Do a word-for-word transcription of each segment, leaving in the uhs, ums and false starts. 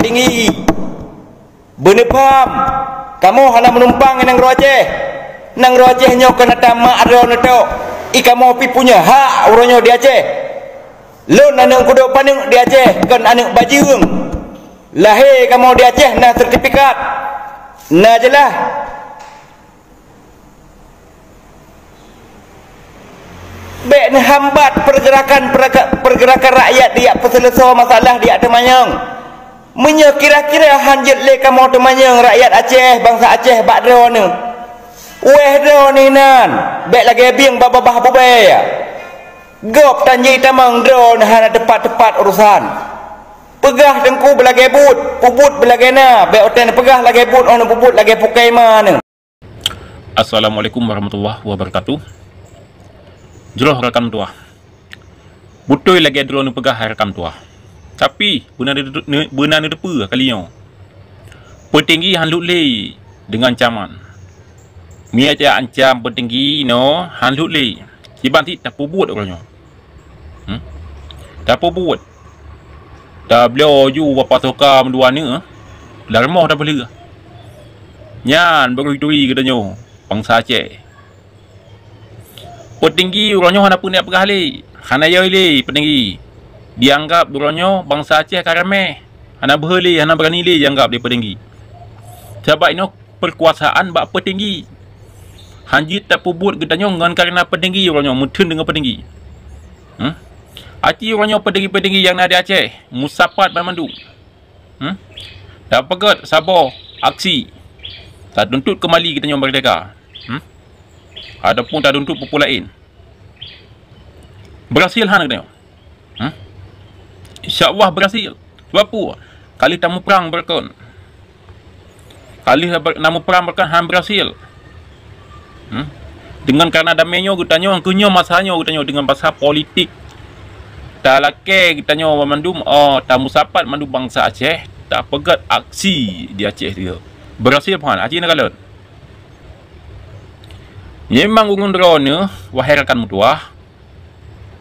Tinggi. Beuneupham, kamoe hana meunumpang ngon nanggroe Aceh. Nanggroe Aceh nyoe kon ata mak droeneuh tok. I kamoe pih punya hak uroe nyoe di Aceh. Lôn aneuëk kudok paneuk di Aceh, kon aneuëk bajeueng. Lahé kamoe di Aceh na sertifikat. Na jeulaih. Bék neuhambat pergerakan, pergerakan rakyat dijak peuseuleusoe masalah dijak teumanyong. Meunyoe kira-kira han jeuet lé kamoe teumanyong rakyat Aceh, bansa Aceh bak droeneuh, wéh droeneuh nan, bék lagée bieng bak babah bubée. Gob tanji tamong droeneuh hana teupat-teupat urosan. Peugah teungku beulagée buet, peubuet beulagée na, bék watée neupeugah lagée buet, óh neupeubuet lagée pukai ma neuh. Assalamualaikum warahmatullahi wabarakatuh. Jroh rakan tuah. Beutôi lagée droeneuh peugah hai rakan tuah. Tapi beuna neuteupeue kali nyoe. Peutinggi han lheueh lé deungon ancaman. Meunyoe ancam peutinggi nyoe han lheueh lé. Kiban cit tapeubuet uroe nyoe. Hmm? Tapeubuet. Tabloe ju bak pasoka meudua neuk, lam rumoh tapeulheueh. Nyan baru turi geutanyoe bansa Aceh. Peutinggi uroe nyoe hana peue neupeugah lé, hana yoi lé peutinggi. Dianggab uroe nyoe bansa Aceh ka ramé, hana beuhe lé, hana beurani lé dianggab lé peutinggi. Sabab inoe peukuasaan bak peutinggi. Han jeuet tapeubuet geutanyoe ngon kareuna peutinggi uroe nyoe meutheun deungon peutinggi. Hmm? Aci uroe nyoe peutinggi-peutinggi nyang na di Aceh, musapat banmandum. Hmm? Tapeugét saboh aksi. Tatuntut keumali geutanyoe meurdeka. Hmm? Ataupun tatuntut peue-peue laén. Beurhasil han geutanyoe? Hmm? Insya Allah beurhasil. Sebab peue? Ka lheueh tamuprang beureukan. Ka lheueh ber-, namuprang beureukan han beurhasil. Hmm? Deungon kareuna damé nyoe geutanyoe, keu nyoe masa nyoe geutanyoe deungon pasal politik. Talakée geutanyoe banmandum, oh, tamusapat mandum bansa Aceh, tapeugét aksi di Aceh tu. Beurhasil pih han, aci na kalon. Memang ureuëng droeneuh, wahai rakan meutuwah,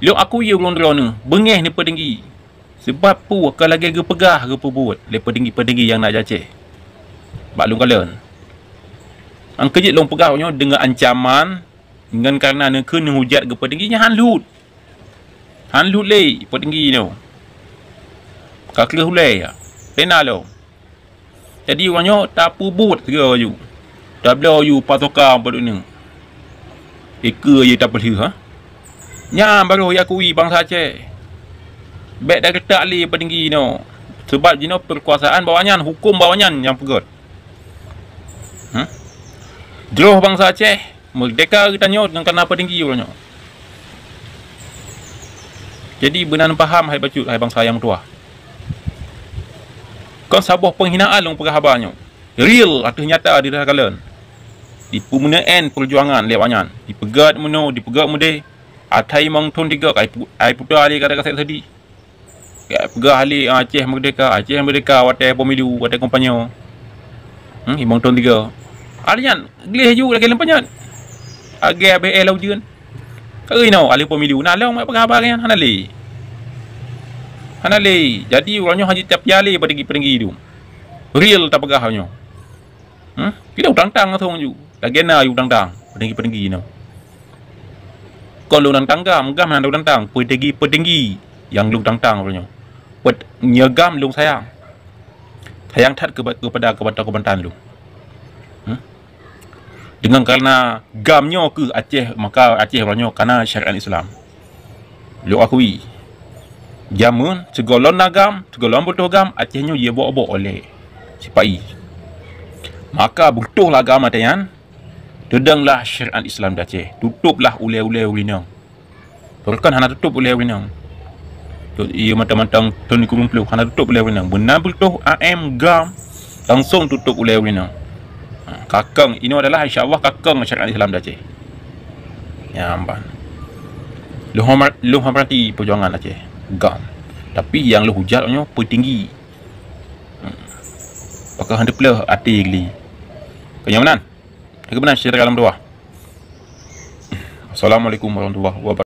lôn akui ureuëng droeneuh beungéh neupeutinggi. Sabab peue ka lagée geupeugah geupeubuet lé peutinggi-peutinggi nyang na di Aceh bak lôn kalon. Nyang keujeuet lôn peugah nyoe deungon ancaman, ngon kareuna neukheun neuhujat geupeutinggi nyan han lheueh. Han lheueh lé peutinggi nyoe. Ka kreueh ulée ya. Pena lom. Jadi uroe nyoe tapeubuet sigoe aju. Tabloe aju pasoka padub nyoe. Ikeue aju tapeulheueh, ha? Nyan barô jiakui bansa Aceh. Bék tagetak lé peutinggi nyoe. Sabab jinoe peukuasaan bak awaknyan, huköm bak awaknyan nyang peugét. Hmm? Jroh bansa Aceh, meurdeka geutanyoe ngon kareuna peutinggi uroe nyoe. Jadi beuna paham hai bacut, hai bansa nyang meutuwah. Kon saboh peunghinaan lôn peugah haba nyoe. Real ateueh nyata di takalon. Dipeumeuneuen peujuangan lé awaknyan. Dipeugét meunoe, dipeugét meudéh. Atai mong thon tiga kai pu-, ai puta lé kata kasét sedih. Ka peugah lé Aceh meurdeka, Aceh meurdeka watée pemilu, watée kampanye. Hmm, limong thon tiga. Alèh nyan gleh ju lagée leumpanyat. Agée abéh éh lam ujeuen. Keu inoe ahli pemilu na lom peugah haba nyan hana lé. Hana lé. Jadi uroe nyoe hana tapiali peudengki-peudengki tu. Real tapeugah nyoe. Hmm? Kita utang-tang langsung ju. Lagée na ju utang-tang. Peudengki-peudengki nyoe. Kon lôn tang-tang gam, gam hana lôn tang-tang. Peudengki-peudengki nyang lôn tang-tang uroe nyoe. Pet-, nyoe gam lôn sayang. Sayang that keuba-, keupada keubantan-keubantan lôn. Hmm? Deungon kareuna gam nyoe keuh Aceh, maka Aceh uroe nyoe kana syariat Islam. Lôn akui, jameun sigohlom na gam, sigohlom beutôi gam, Aceh nyoe jibok-bok oleh sipa-i. Maka beutôi lah gam watée nyan, teudonglah syariat Islam di Aceh, tutôblah ulée-ulée ureuëng inong. Peureukan hana tutôb ulée ureuëng inong. Iya mantong-mantong thon sikureueng ploh hana tutôb ulée ureuëng inong. Beuna beutôi A M gam langsung tutôb ulée ureuëng inong. Ha, kakeng, inoe adalah insya Allah kakeng syariat Islam di Aceh. Ya, amban. Lôn hormat, lôn hormati peujuangan Aceh. Gam. Tapi nyang lôn hujat nyoe peutinggi. Hmm. Pakon hana teupeuleueh até geuh. Keu nyoe meunan. Keu meunan syedara alam dua. Assalamualaikum warahmatullahi wabarakatuh.